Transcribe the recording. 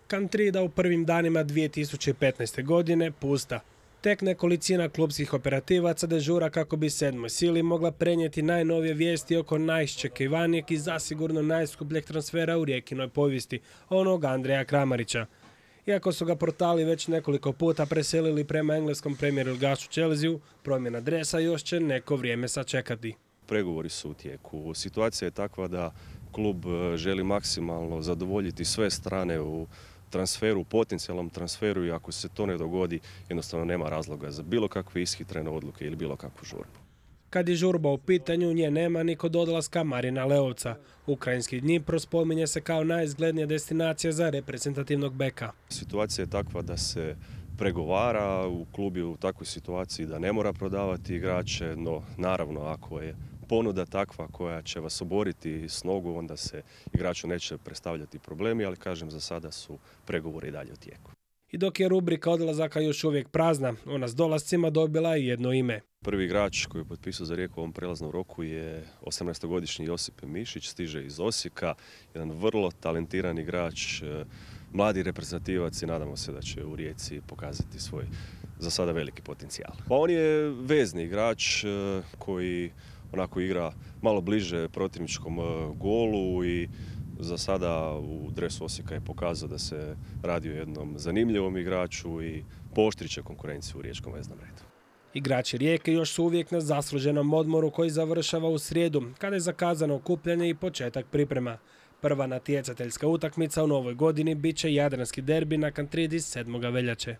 Kantrida u prvim danima 2015. godine pusta. Tek nekolicina klubskih operativaca dežura kako bi sedmoj sili mogla prenijeti najnovije vijesti oko najiščekivanijeg i zasigurno najskupljeg transfera u Rijekinoj povijesti, onog Andreja Kramarića. Iako su ga portali već nekoliko puta preselili prema engleskom premier ligašu Chelsea, promjena dresa još će neko vrijeme sačekati. Pregovori su u tijeku. Situacija je takva da klub želi maksimalno zadovoljiti sve strane u transferu, potencijalnom transferu, i ako se to ne dogodi, jednostavno nema razloga za bilo kakve ishitrene odluke ili bilo kakvu žurbu. Kad je žurba u pitanju, nje nema ni kod odlaska Marina Leovca. Ukrajinski Dnipro spominje se kao najizglednija destinacija za reprezentativnog beka. Situacija je takva da se pregovara, u klub je u takvoj situaciji da ne mora prodavati igrače, no naravno ako je ponuda takva koja će vas oboriti s nogu, onda se igraču neće predstavljati problemi, ali kažem, za sada su pregovori i dalje u tijeku. I dok je rubrika odlazaka još uvijek prazna, ona s dolascima dobila i jedno ime. Prvi igrač koji je potpisao za Rijeku u ovom prelaznom roku je 18-godišnji Josip Mišić, stiže iz Osijeka, jedan vrlo talentiran igrač, mladi reprezentativac, i nadamo se da će u Rijeci pokazati svoj za sada veliki potencijal. Pa on je vezni igrač koji onako igra malo bliže protivničkom golu i za sada u dresu Osijeka je pokazao da se radi o jednom zanimljivom igraču i pooštrit će konkurenciju u riječkom veznom redu. Igrači Rijeke još su uvijek na zasluženom odmoru koji završava u srijedu, kada je zakazano okupljanje i početak priprema. Prva natjecateljska utakmica u novoj godini bit će jadranski derbi na Kantridi 7. veljače.